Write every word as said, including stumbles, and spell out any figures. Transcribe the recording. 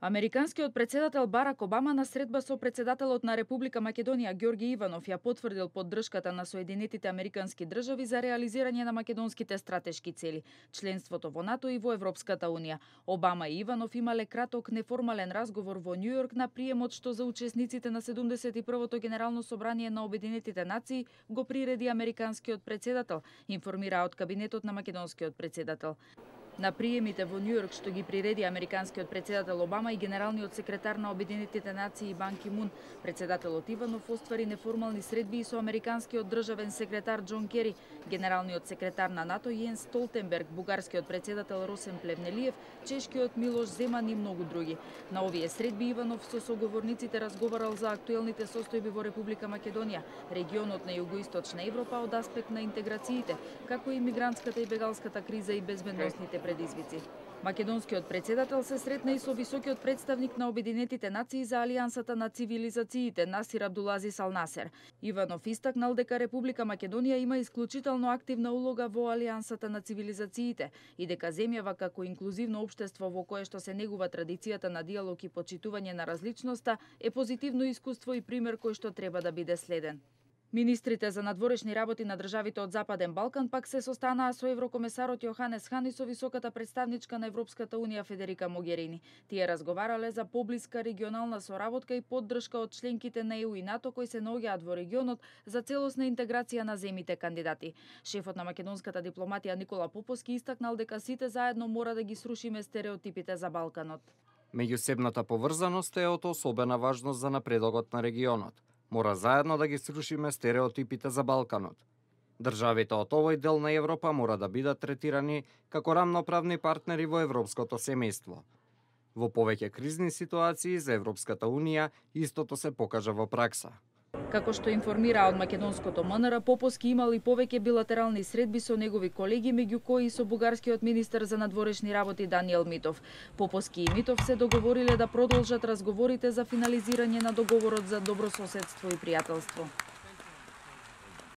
Американскиот председател Барак Обама на средба со председателот на Република Македонија Ѓорѓе Иванов ја потврдил поддршката на Соединетите Американски држави за реализирање на македонските стратешки цели, членството во НАТО и во Европската унија. Обама и Иванов имале краток неформален разговор во Њујорк на приемот што за учесниците на седумдесет и првото Генерално собрание на Обединетите нации го приреди американскиот председател, информира од кабинетот на македонскиот председател. На приемите во Њујорк што ги приреди американскиот председател Обама и генералниот секретар на Обединетите нации Бан Ки Мун, председателот Иванов оствари неформални средби и со американскиот државен секретар Џон Кери, генералниот секретар на НАТО Јенс Столтенберг, бугарскиот председател Росен Плевнелиев, чешкиот Милош Земан и многу други. На овие средби Иванов со соговорниците разговарал за актуелните состојби во Република Македонија, регионот на југоисточна Европа од аспект на интеграциите, како и мигрантската и бегалската криза и безбедносните предизвици. Македонскиот председател се сретна и со високиот представник на Обединетите нации за Алијансата на цивилизациите Насир Абдулазис Ал Насер. Иванов истакнал дека Република Македонија има исклучително активна улога во Алијансата на цивилизациите и дека земјава како инклузивно општество во кое што се негува традицијата на диалог и почитување на различноста е позитивно искуство и пример кој што треба да биде следен. Министрите за надворешни работи на државите од Западен Балкан пак се состанаа со еврокомесарот Јоханес Хан и со високата претставничка на Европската унија Федерика Могерини. Тие разговарале за поблиска регионална соработка и поддршка од членките на Е У и НАТО кои се наоѓаат во регионот за целосна интеграција на земите кандидати. Шефот на македонската дипломатија Никола Поповски истакнал дека сите заедно мора да ги срушиме стереотипите за Балканот. Меѓусебната поврзаност е од особена важност за напредокот на регионот. Мора заедно да ги срушиме стереотипите за Балканот. Државите од овој дел на Европа мора да бидат третирани како рамноправни партнери во европското семејство. Во повеќе кризни ситуации за Европската унија истото се покажа во пракса. Како што информира од македонското М Н Р, Поповски имал и повеќе билатерални средби со негови колеги, меѓу кои и со бугарскиот министер за надворешни работи Даниел Митов. Поповски и Митов се договориле да продолжат разговорите за финализирање на договорот за добрососедство и пријателство.